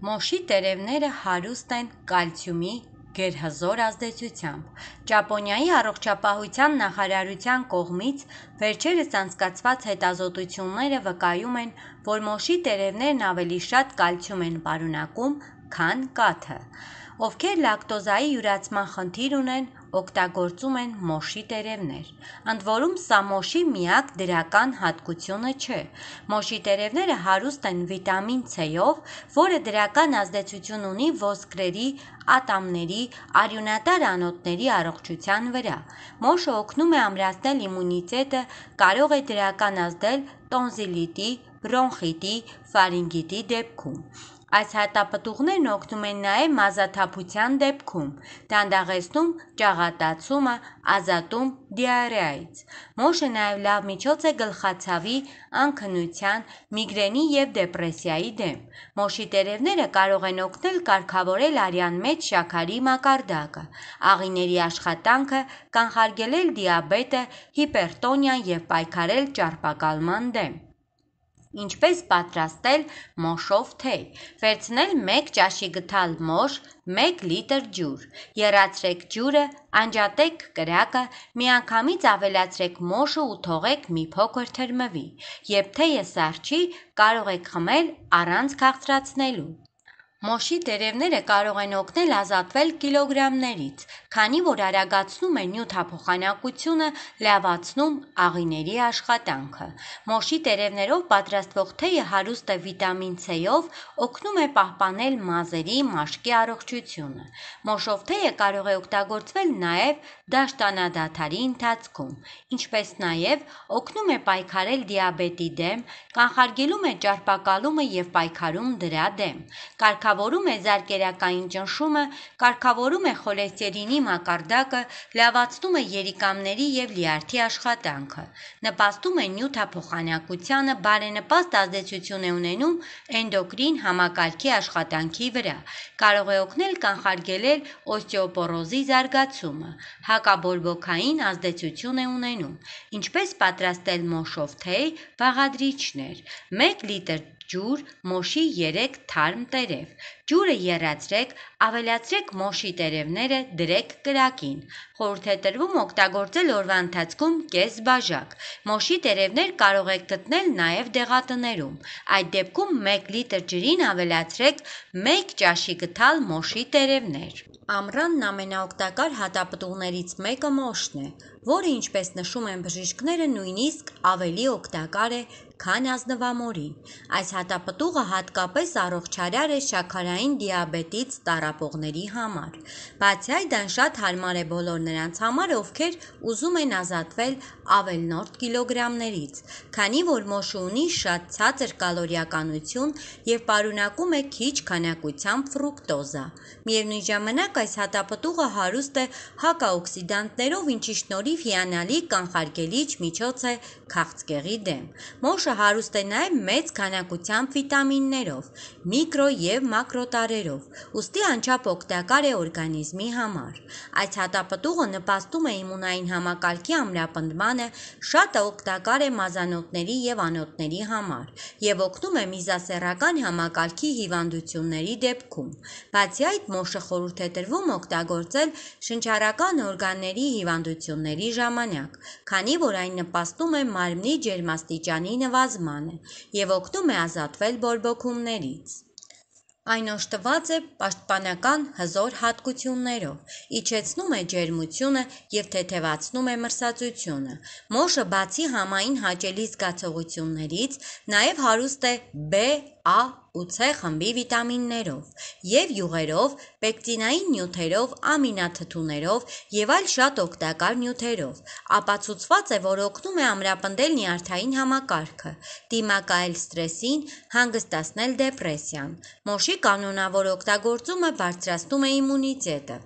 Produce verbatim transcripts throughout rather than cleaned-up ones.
Մոշի տերևները հարուստ են կալցիումի գերհզոր ազդեցությամբ։ Ճապոնիայի առողջապահության նախարարության կողմից վերջերս անցկացված հետազոտությունները վկայում են, որ մոշի տերևներն ավելի շատ կալցիում են պարունակում, քան կաթը։ Ովքեր լակտոզայի յուրացման խնդիր ունեն, օգտագործում են մոշի տերևներ։ Ընդ որում, սա մոշի միակ դրական հատկությունը չէ։ Մոշի տերևները հարուստ են վիտամին C-ով, որը դրական ազդեցություն ունի ոսկրերի, ատամների, արյունատար անոթների առողջության վրա։ Մոշը օգնում է ամրացնել իմունիտետը, կարող է դրական ազդել տոնզիլիտի, բրոնխիտի, ֆարինգիտի դեպքում։ Այս հատապտուղներն օգնում են նաև մազաթափության դեպքում, դանդաղեցնում ճաղատացումը, ազատում դիարեայից։ Մոշը նաև լավ միջոց է գլխացավի, անքնության, միգրենի և դեպրեսիայի դեմ։ Մոշի տերևները կարող են օգնել կարգավորել արյան մեջ շաքարի մակարդակը, աղիների աշխատանքը, կանխարգելել դիաբետը, հիպերտոնիան և պայքարել ճարպակալման դեմ։ Ինչպես պատրաստել մոշով թեյ։ Վերցնել մեկ ճաշի գթալ մոշ, մեկ լիտր ջուր։ Եռացրեք ջուրը, անջատեք կրակը, միանգամից ավելացրեք մոշը ու թողեք մի փոքր թրմվի։ Երբ թեյը սառչի, կարող եք խմել առանց քաղցրացնելու։ Մոշի տերևները կարող են օգնել ազատվել կիլոգրամներից, քանի որ արագացնում է նյութափոխանակությունը, լավացնում աղիների աշխատանքը։ Մոշի տերևներով պատրաստվող թեյը հարուստ է վիտամին C-ով, օգնում է պահպանել մազերի, մաշկի առողջությունը։ Մոշով թեյը կարող է օգտագործվել նաև դաշտանադադարի ընթացքում, ինչպես նաև օգնում է պայքարել դիաբետի դեմ, կանխարգելում է ճարպակալումը և պայքարում դրա դեմ, կարգավորում է զարկերակային ճնշումը, կարգավորում է խոլեստերինի մակարդակը, լավացնում է երիկամների և լյարդի աշխատանքը, նպաստում է նյութափոխանակությանը, բարենպաստ ազդեցություն է ունենում էնդոկրին համակարգի աշխատանքի վրա, կարող է օգնել կանխարգելել օստեոպորոզի զարգացումը, հակաբորբոքային ազդեցություն է ունենում։ Ինչպես պատրաստել մոշով թեյ։ Բաղադրիչներ. մեկ լիտր ջուր, մոշի երեք թարմ տերև։ Ջուրը եռացրեք, ավելացրեք մոշի տերևները, դրեք կրակին։ Խորհուրդ է տրվում օգտագործել օրվա ընթացքում կես բաժակ։ Մոշի տերևներ կարող եք գտնել նաև դեղատներում։ Այդ դեպքում մեկ լիտր ջրին ավելացրեք մեկ ճաշի գթալ մոշի տերևներ։ Ամռանն ամենաօգտակար հատապտուղներից մեկը մոշն է, որը, ինչպես նշում են բժիշկները, նույնիսկ ավելի օգտակար է, քան ազնվամորին։ Այս հատապտուղը հատկապես առողջարար է շաքարային դիաբետից տառապողների համար։ Բացի այդ, այն շատ հարմար է բոլոր նրանց համար, ովքեր ուզում են ազատվել ավելնորդ կիլոգրամներից, քանի որ մոշը ունի շատ ցածր կալորիականություն և պարունակում է քիչ քանակությամբ ֆրուկտոզա։ Միևնույն ժամանակ, այս հատապտուղը հարուստ է հակաօքսիդանտներով, ինչի շնորհիվ հիանալի կանխարգելիչ միջոց է քաղցկեղի դեմ։ Մոշը հարուստ է նաև մեծ քանակությամբ վիտամիններով, միկրո և մակրոտարրերով, ուստի անչափ օգտակար է օրգանիզմի համար։ Այս հատապտուղը նպաստում է իմունային համակարգի ամրապնդմանը, շատ օգտակար է մազանոթների և անոթների համար և օգնում է միզասեռական համակարգի հիվանդությունների դեպքում։ Բացի այդ, մոշը խորհուրդ է տրվում օգտագործել շնչառական օրգանների հիվանդությունների ժամանակ, քանի որ այն նպաստում է մարմնի ջերմաստիճանի նվազմանը և օգնում է ազատվել բորբոքումներից։ Այն օժտված է պաշտպանական հզոր հատկություններով, իջեցնում է ջերմությունը և թեթևացնում է մրսածությունը։ Մոշը բացի համային հաճելի զգացողություններից, նաև հարուստ է B, A ու C խմբի վիտամիններով և յուղերով, պեկտինային նյութերով, ամինաթթուներով և այլ շատ օգտակար նյութերով։ Ապացուցված է, որ օգնում է ամրապնդել նյարդային համակարգը, դիմակայել սթրեսին, հանգստացնել դեպրեսիան։ Մոշի կանոնավոր օգտագործումը բարձրացնում է իմունիտետը։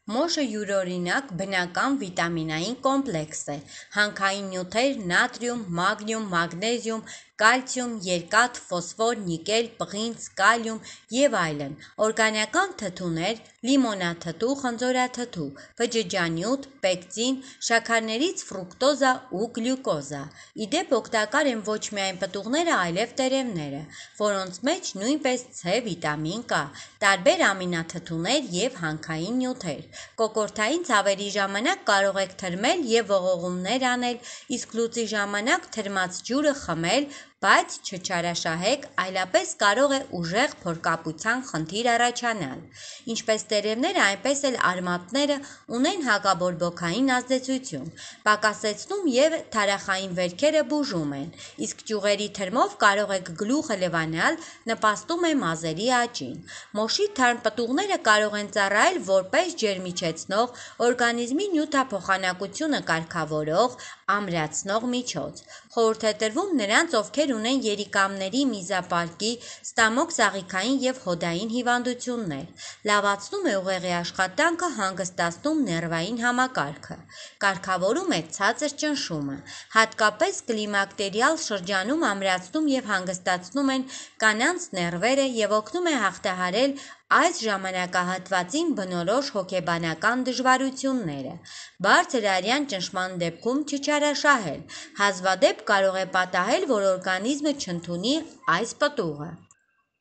Մոշը յուրօրինակ բնական վիտամինային կոմպլեքս է։ Հանքային նյութեր՝ նատրիում, մագնիում, մագնեզիում, կալցիում, երկաթ, ֆոսֆոր, նիկել, պղինձ, կալիում և այլն, օրգանական թթուներ, լիմոնաթթու, խնձորաթթու, բջջանյութ, պեկտին, շաքարներից ֆրուկտոզա ու գլյուկոզա։ Իդեպ օգտակար են ոչ միայն պտուղները, այլև տերևները, որոնց մեջ նույնպես C վիտամին կա, տարբեր ամինաթթուներ և հանքային նյութեր։ Կոկորդային ցավերի ժամանակ կարող եք թրմել և ողողումներ անել, իսկ լուծի ժամանակ թրմած ջուրը խմել, բայց չչարաշահեք, այլապես կարող է ուժեղ փորկապության խնդիր առաջանալ։ Ինչպես տերևները, այնպես էլ արմատները ունեն հակաբորբոքային ազդեցություն, պակասեցնում և թարախային վերքերը բուժում են, իսկ ճյուղերի թրմով կարող եք գլուխը լվանալ, նպաստում է մազերի աճին։ Մոշի թարմ պտուղները կարող են ծառայել որպես ջերմիչեցնող, օրգանիզմի նյութափոխանակությունը կարգավորող, ամրացնող միջոց։ Խորհուրդ է տրվում նրանց, ովքեր ունեն երիկամների, միզապարկի, ստամոք-ծաղիկային և հոդային հիվանդություններ։ Լավացնում է ուղեղի աշխատանքը, հանգստացնում ներվային համակարգը։ Կարգավորում է ցածր ճնշումը։ Հատկապես կլիմակտերիալ շրջանում ամրացնում և հանգստացնում են կանանց ներվերը և օգնում է հաղթահարել այս ժամանակահատվածին բնորոշ հոգեբանական դժվարությունները։ Բարձր արյան ճնշման դեպքում չչարաշահել։ Հազվադեպ կարող է պատահել, որ օրգանիզմը չընդունի այս պտուղը։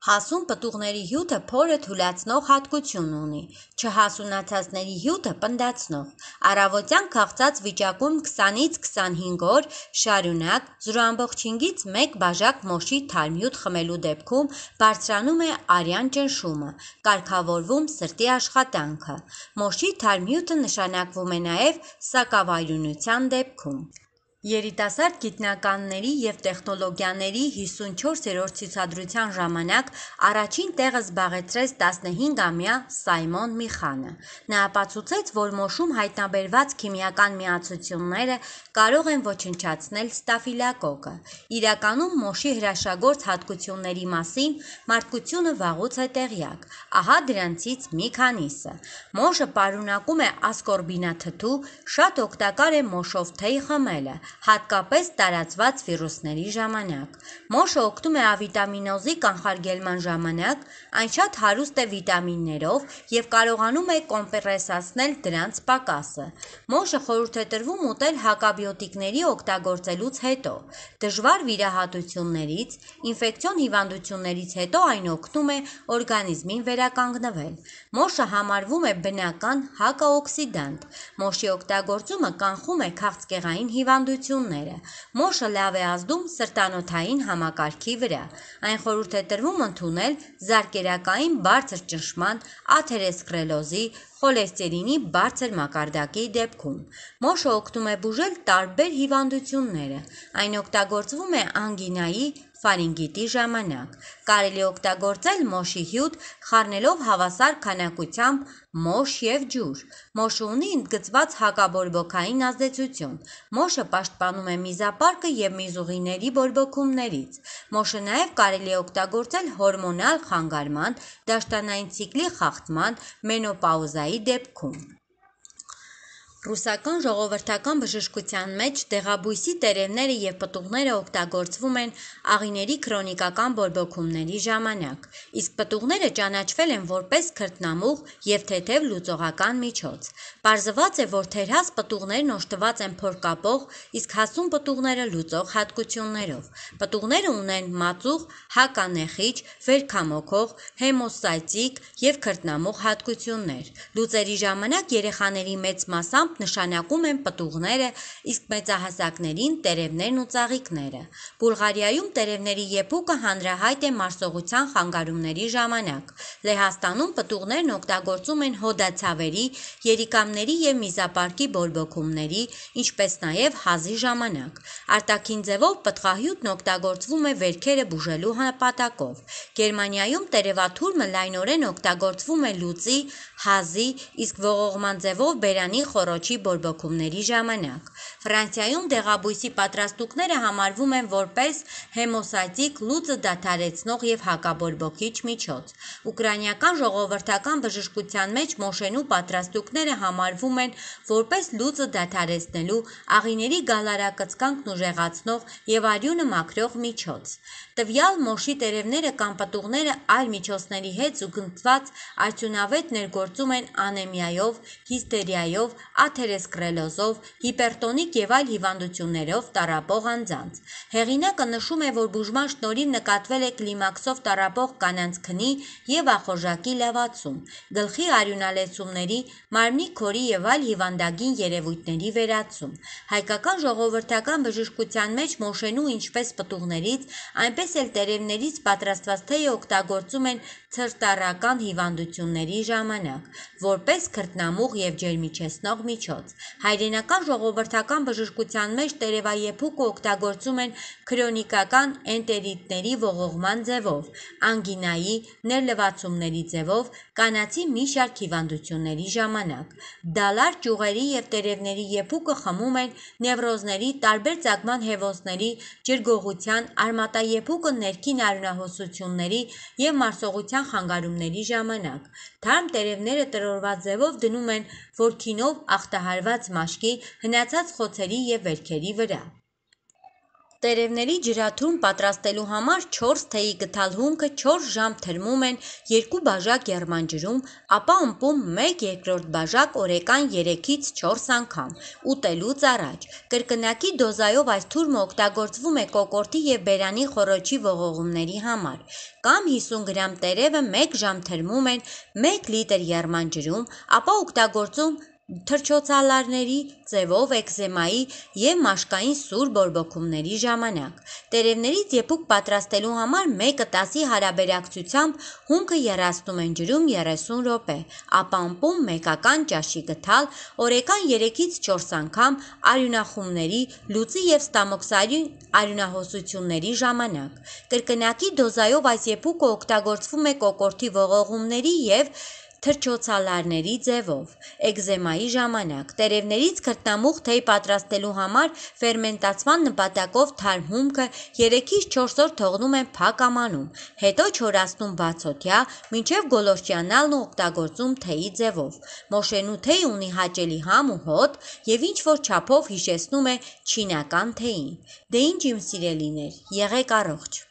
Հասուն պտուղների հյութը փորը թուլացնող հատկություն ունի, չհասունացածների հյութը պնդացնող։ Առավոտյան քաղցած վիճակում քսանից քսանհինգ օր շարունակ զրո ամբողջ հինգից մեկ բաժակ մոշի թարմ հյութ խմելու դեպքում բարձրանում է արյան ճնշումը, կարգավորվում սրտի աշխատանքը։ Մոշի թարմ հյութը նշանակվում է նաև սակավարյունության դեպքում։ Երիտասարդ գիտնականների և տեխնոլոգիաների հիսունչորսերորդ ցուցադրության ժամանակ առաջին տեղը զբաղեցրեց տասնհինգամյա Սայմոն Միխանը։ Նա ապացուցեց, որ մոշում հայտնաբերված քիմիական միացությունները կարող են ոչնչացնել ստաֆիլոկոկը։ Իրականում մոշի հրաշագործ հատկությունների մասին մարդկությունը վաղուց է տեղյակ։ Ահա դրանցից մի քանիսը։ Մոշը պարունակում է ասկորբինաթթու, շատ օգտակար է մոշով թեյ խմելը, հատկապես տարածված վիրուսների ժամանակ։ Մոշը օգնում է ավիտամինոզի կանխարգելման ժամանակ, այն շատ հարուստ է վիտամիններով և կարողանում է կոմպենսացնել դրանց պակասը։ Մոշը խորհուրդ է տրվում ուտել հակաբիոտիկների օգտագործելուց հետո։ Դժվար վիրահատություններից, ինֆեկցիոն հիվանդություններից հետո այն օգնում է օրգանիզմին վերականգնվել։ Մոշը համարվում է բնական հակաօքսիդանտ։ Մոշի օգտագործումը կանխում է քաղցկեղային հիվանդությունները։ Մոշը լավ է ազդում սրտանոթային համակարգի վրա։ Այն խորհուրդ է տրվում ընդունել զարկերակային բարձր ճնշման, աթերոսկլերոզի, խոլեստերինի բարձր մակարդակի դեպքում։ Մոշը օգնում է բուժել տարբեր հիվանդությունները։ Այն օգտագործվում է անգինայի, ֆարինգիտի ժամանակ։ Կարելի է օգտագործել մոշի հյութ՝ խառնելով հավասար քանակությամբ մոշ և ջուր։ Մոշը ունի ընդգծված հակաբորբոքային ազդեցություն։ Մոշը պաշտպանում է միզապարկը և միզուղիների բորբոքումներից։ Մոշը նաև կարելի է օգտագործել հորմոնալ խանգարման, դաշտանային ցիկլի խախտման, մենոպաուզայի դեպքում։ Ռուսական ժողովրդական բժշկության մեջ դեղաբույսի տերևները և պտուղները օգտագործվում են աղիների քրոնիկական բորբոքումների ժամանակ, իսկ պտուղները ճանաչվել են որպես քրտնամուղ և թեթև լուծողական միջոց։ Պարզված է, որ թերհաս պտուղներն օժտված են փորկապող, իսկ հասուն պտուղները՝ լուծող հատկություններով։ Պտուղները ունեն մածուղ, հականեխիչ, վերքամոքող, հեմոստատիկ և քրտնամուղ հատկություններ։ Լուծերի ժամանակ երեխաների մեծ մասամբ նշանակում են պտուղները, իսկ մեծահասակներին՝ տերևներն ու ծաղիկները։ Բուլղարիայում տերևների եփուկը հանրահայտ է մարսողության խանգարումների ժամանակ։ Լեհաստանում պտուղներն օգտագործում են հոդացավերի, երիկամների և միզապարկի բորբոքումների, ինչպես նաև հազի ժամանակ։ Արտաքին ձևով պտղահյութն օգտագործվում է վերքերը բուժելու նպատակով։ Գերմանիայում տերևաթուրմը լայնորեն օգտագործվում է լուծի, հազի, իսկ ողողման ձևով բերանի խոռոչի խոռոչի բորբոքումների ժամանակ։ Ֆրանսիայում դեղաբույսի պատրաստուկները համարվում են որպես հեմոստատիկ, լուծը դադարեցնող եւ հակաբորբոքիչ միջոց։ Ուկրաինական ժողովրդական բժշկության մեջ մոշենու պատրաստուկները համարվում են որպես լուծը դադարեցնելու, աղիների գալարակծկանքն ուժեղացնող եւ արյունը մաքրող միջոց։ Տվյալ մոշի տերևները կամ պտուղները այլ միջոցների հետ զուգընթաց արդյունավետ ներգործում են անեմիայով, հիստերիայով, աթերոսկլերոզով, հիպերտոնիկ եւ այլ հիվանդություններով տառապող անձանց։ Հեղինակը նշում է, որ բուժման շնորհիվ նկատվել է կլիմաքսով տառապող կանանց քնի եւ ախորժակի լավացում, գլխի արյունալեցումների, մարմնի քորի եւ այլ հիվանդագին երևույթների վերացում։ Հայկական ժողովրդական բժշկության մեջ մոշենու ինչպես պտուղներից, այնպես էլ տերևներից պատրաստված թեյը օգտագործում են ցրտառական հիվանդությունների ժամանակ, որպես քրտնամուղ եւ ջերմիչեցնող միջոց։ Հայրենական ժողովրդական բժշկության մեջ տերևայեփուկը օգտագործում են քրոնիկական էնտերիտների ողողման ձևով, անգինայի, ներլվացումների ձևով, կանացի մի շարք հիվանդությունների ժամանակ։ Դալար ճյուղերի եւ տերևների եփուկը խմում են նևրոզների, տարբեր ծագման հեւոցների, ջրգողության, արմատաեփուկը ներքին արյունահոսությունների եւ մարսողության խանգարումների ժամանակ։ Թարմ տերևները տրորված ձևով դնում են որքինով ախտահարված մաշկի, հնացած խոցերի եւ վերքերի վրա։ Տերևների ջրաթուրմ պատրաստելու համար չորս թեյի գթալ հումքը չորս ժամ թրմում են երկու բաժակ եռման ջրում, ապա ըմպում մեկ երկրորդ բաժակ օրեկան երեքից չորս անգամ, ուտելուց առաջ։ Կրկնակի դոզայով այս թուրմը օգտագործվում է կոկորդի եւ բերանի խոռոչի ողողումների համար, կամ հիսուն գրամ տերևը մեկ ժամ թրմում են մեկ լիտր եռման ջրում, ապա օգտագործում թռչոցալարների ձևով էկզեմայի եւ մաշկային սուր բորբոքումների ժամանակ։ Տերևներից եփուկ պատրաստելու համար մեկը տասի հարաբերակցությամբ հումքը եռացնում են ջրում երեսուն րոպե, ապա ըմպում մեկական ճաշի գթալ, օրեկան երեքից չորս անգամ արյունախումների, լուծի եւ ստամոքսային արյունահոսությունների ժամանակ։ Կրկնակի դոզայով այս եփուկը օգտագործվում է կոկորդի ողողումների եւ թռչոցալարների ձևով, էկզեմայի ժամանակ։ Տերևներից քրտնամուղ թեյ պատրաստելու համար ֆերմենտացման նպատակով թարմ հումքը երեքից չորս օր թողնում են փակ ամանում, հետո չորացնում բացօթյա, մինչև գոլորշիանալն ու օգտագործում թեյի ձևով։ Մոշենու թեյը ունի հաճելի համ ու հոտ եւ ինչ-որ չափով հիշեցնում է չինական թեյին։ Դե ինչ իմ սիրելիներ, եղեք առողջ։